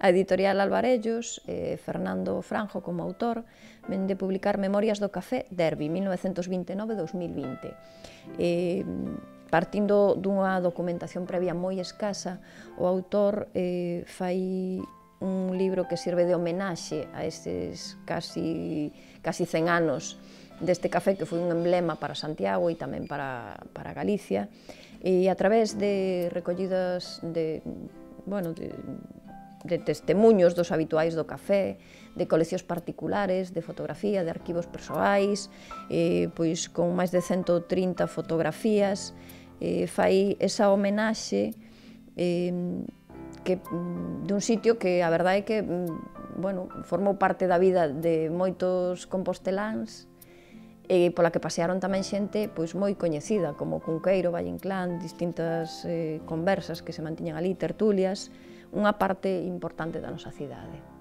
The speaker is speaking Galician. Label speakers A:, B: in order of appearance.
A: A editorial Alvarellos, Fernando Franjo como autor, ven de publicar Memorias do café Derby, 1929-2020. Partindo dunha documentación previa moi escasa, o autor fai un libro que sirve de homenaxe a estes casi 100 anos deste café que foi un emblema para Santiago e tamén para Galicia, e a través de recollidas de testemuños dos habituais do café, de coleccións particulares, de fotografía, de arquivos persoais, pois con máis de 130 fotografías, fai esa homenaxe dun sitio que a verdade é que formou parte da vida de moitos composteláns e pola que pasearon tamén xente moi coñecida, como Cunqueiro, Valle Inclán, distintas conversas que se mantiñan ali, tertulias, unha parte importante da nosa cidade.